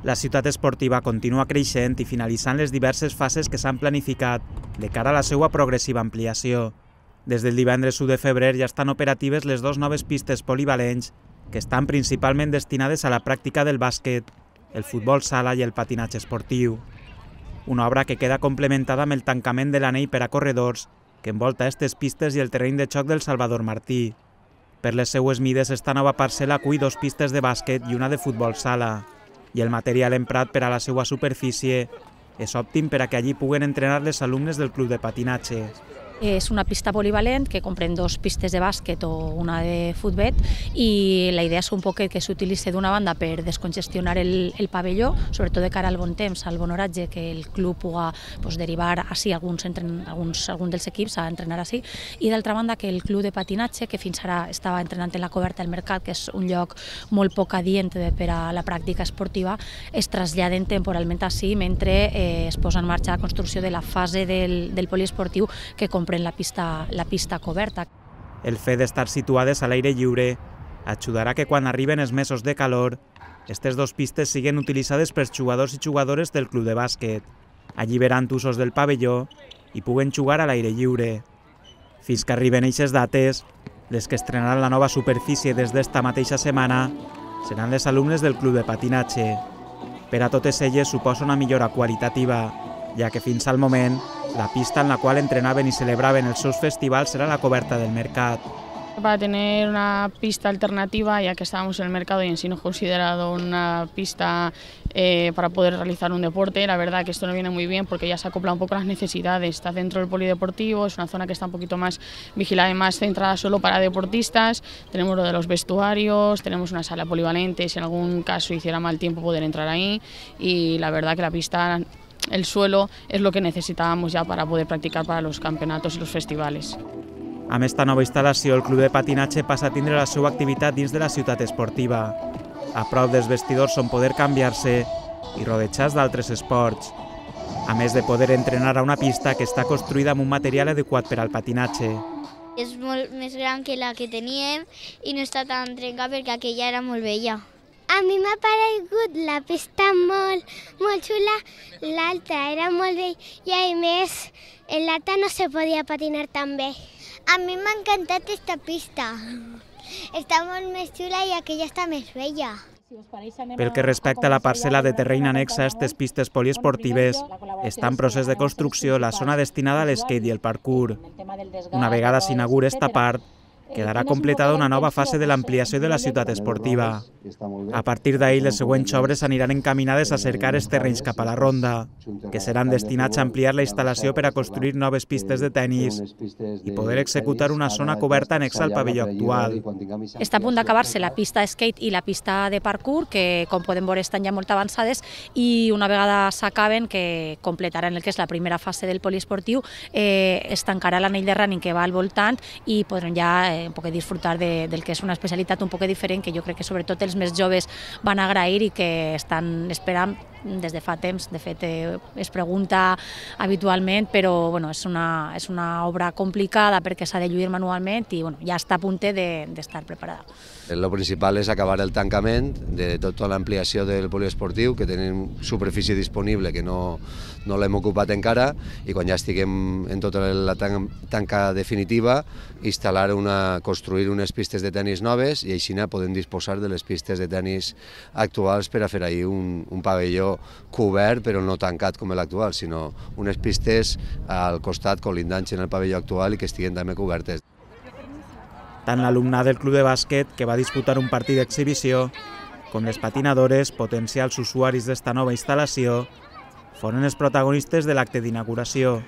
La ciutat esportiva continua creixent i finalitzant les diverses fases que s'han planificat de cara a la seva progressiva ampliació. Des del divendres 1 de febrer ja estan operatives les dues noves pistes polivalents que estan principalment destinades a la pràctica del bàsquet, el futbol sala i el patinatge esportiu. Una obra que queda complementada amb el tancament de l'anell per a corredors que envolta aquestes pistes i el terreny de xoc del Salvador Martí. Per les seues mides, esta nova parcel·la acull 2 pistes de bàsquet i una de futbol sala, i el material emprat per a la seva superfície és òptim per a que allí puguen entrenar les alumnes del club de patinatge. És una pista polivalent que comprèn 2 pistes de bàsquet o una de futbol i la idea és un poc que s'utilitzi d'una banda per descongestionar el pavelló, sobretot de cara al bon temps, al bon oratge, que el club pugui derivar així alguns dels equips a entrenar així, i d'altra banda que el club de patinatge, que fins ara estava entrenant en la coberta del Mercat, que és un lloc molt poc adient per a la pràctica esportiva, es traslladen temporalment així mentre es posa en marxa la construcció de la fase del poliesportiu que comprèn la pista coberta. El fet d'estar situades a l'aire lliure ajudarà que quan arriben els mesos de calor, aquestes 2 pistes siguin utilitzades pels jugadors i jugadores del club de bàsquet, alliberant usos del pavelló i puguen jugar a l'aire lliure. Fins que arriben aquestes dates, les que estrenaran la nova superfície des d'esta mateixa setmana seran les alumnes del club de patinatge. Per a totes elles suposa una millora qualitativa, ja que fins al moment la pista en la qual entrenaven y celebraven els seus festivals era la coberta del Mercat. Para tener una pista alternativa, ya que estábamos en el mercado y en sí no considerado una pista para poder realizar un deporte, la verdad que esto nos viene muy bien porque ya se acopla un poco a las necesidades. Está dentro del polideportivo, es una zona que está un poquito más vigilada y más centrada solo para deportistas. Tenemos lo de los vestuarios, tenemos una sala polivalente, si en algún caso hiciera mal tiempo poder entrar ahí, y la verdad que la pista, el suelo, es lo que necesitábamos ya para poder practicar para los campeonatos y los festivales. Amb esta nova instal·lació, el club de patinatge passa a tindre la seva activitat dins de la ciutat esportiva, a prop dels vestidors on poder canviar-se i rodejats d'altres esports, a més de poder entrenar a una pista que està construïda amb un material adequat per al patinatge. És molt més gran que la que teníem i no està tan trencada perquè aquella era molt vella. A mi m'ha paregut la pista molt xula, l'altra era molt vella i a més en l'altra no se podia patinar tan bé. A mi m'ha encantat aquesta pista, està molt més xula i aquella està més vella. Pel que respecta a la parcel·la de terreny anexa a aquestes pistes poliesportives, està en procés de construcció la zona destinada a l'skate i el parkour. Una vegada s'inaugura esta part, quedarà completada una nova fase de l'ampliació de la ciutat esportiva. A partir d'ahir, les següents obres aniran encaminades a cercar els terrenys cap a la ronda, que seran destinats a ampliar la instal·lació per a construir noves pistes de tennis i poder executar una zona coberta anexa al pavelló actual. Està a punt d'acabar-se la pista de skate i la pista de parkour, que com podem veure estan ja molt avançades, i una vegada s'acaben, que completaran el que és la primera fase del poliesportiu, es tancarà l'anell de running que va al voltant i podrem ja un poc disfrutar del que és una especialitat un poc diferent que jo crec que sobretot els més joves van agrair i que estan esperant des de fa temps. De fet, es pregunta habitualment, però és una obra complicada perquè s'ha de lluir manualment i ja està a punt d'estar preparada. El principal és acabar el tancament de tota l'ampliació del poliesportiu, que tenim superfície disponible que no l'hem ocupat encara, i quan ja estiguem en tota la tanca definitiva, construir unes pistes de tenis noves i així podem disposar de les pistes de tenis actuals per a fer ahir un pavelló cobert però no tancat com l'actual, sinó unes pistes al costat colindants en el pavelló actual i que estiguen també cobertes. Tant l'alumnat del club de bàsquet, que va disputar un partit d'exhibició, com les patinadores, potencials usuaris d'esta nova instal·lació, foren els protagonistes de l'acte d'inauguració.